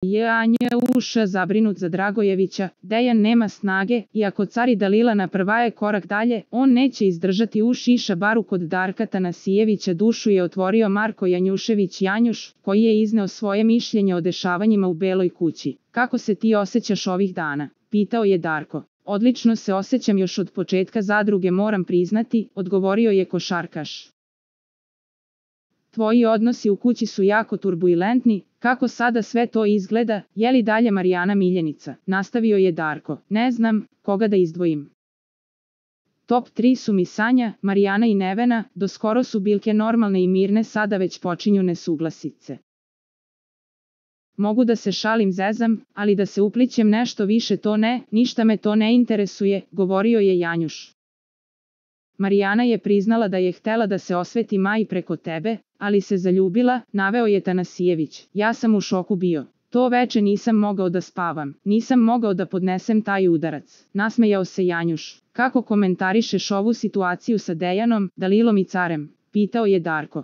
Janjuš zabrinut za Dragojevića, Dejan nema snage, iako car i Dalila napravaje korak dalje, on neće izdržati u šiša baru kod Darka Tanasijevića. Dušu je otvorio Marko Janjušević Janjuš, koji je izneo svoje mišljenje o dešavanjima u Beloj kući. Kako se ti osjećaš ovih dana? Pitao je Darko. Odlično se osjećam još od početka zadruge, moram priznati, odgovorio je košarkaš. Tvoji odnosi u kući su jako turbulentni, kako sada sve to izgleda, je li dalje Marijana miljenica? Nastavio je Darko. Ne znam, koga da izdvojim. Top 3 su mi Sanja, Marijana i Nevena, doskoro su bilke normalne i mirne, sada već počinju nesuglasice. Mogu da se šalim, zezam, ali da se uplićem nešto više to ne, ništa me to ne interesuje, govorio je Janjuš. Marijana je priznala da je htela da se osveti Maji preko tebe, ali se zaljubila, naveo je Tanasijević. Ja sam u šoku bio. To veče nisam mogao da spavam, nisam mogao da podnesem taj udarac. Nasmejao se Janjuš. Kako komentarišeš ovu situaciju sa Dejanom, Dalilom i carem? Pitao je Darko.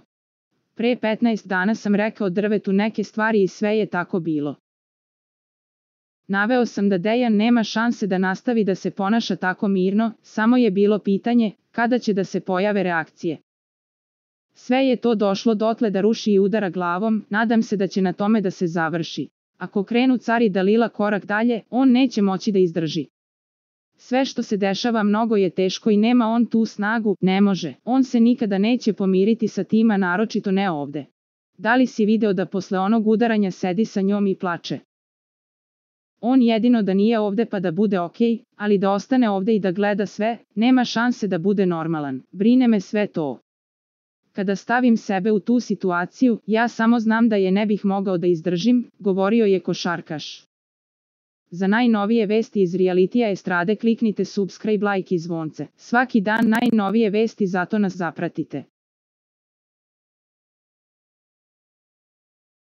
Pre 15 dana sam rekao drvetu neke stvari i sve je tako bilo. Naveo sam da Dejan nema šanse da nastavi da se ponaša tako mirno, samo je bilo pitanje kada će da se pojave reakcije. Sve je to došlo dotle da ruši i udara glavom, nadam se da će na tome da se završi. Ako krenu car i Dalila korak dalje, on neće moći da izdrži. Sve što se dešava mnogo je teško i nema on tu snagu, ne može. On se nikada neće pomiriti sa tima, naročito ne ovde. Da li si video da posle onog udaranja sedi sa njom i plače? On jedino da nije ovde pa da bude okej, ali da ostane ovde i da gleda sve, nema šanse da bude normalan. Brine me sve to. Kada stavim sebe u tu situaciju, ja samo znam da je ne bih mogao da izdržim, govorio je košarkaš. Za najnovije vesti iz realitija estrade kliknite subscribe, like i zvonce. Svaki dan najnovije vesti, zato nas zapratite.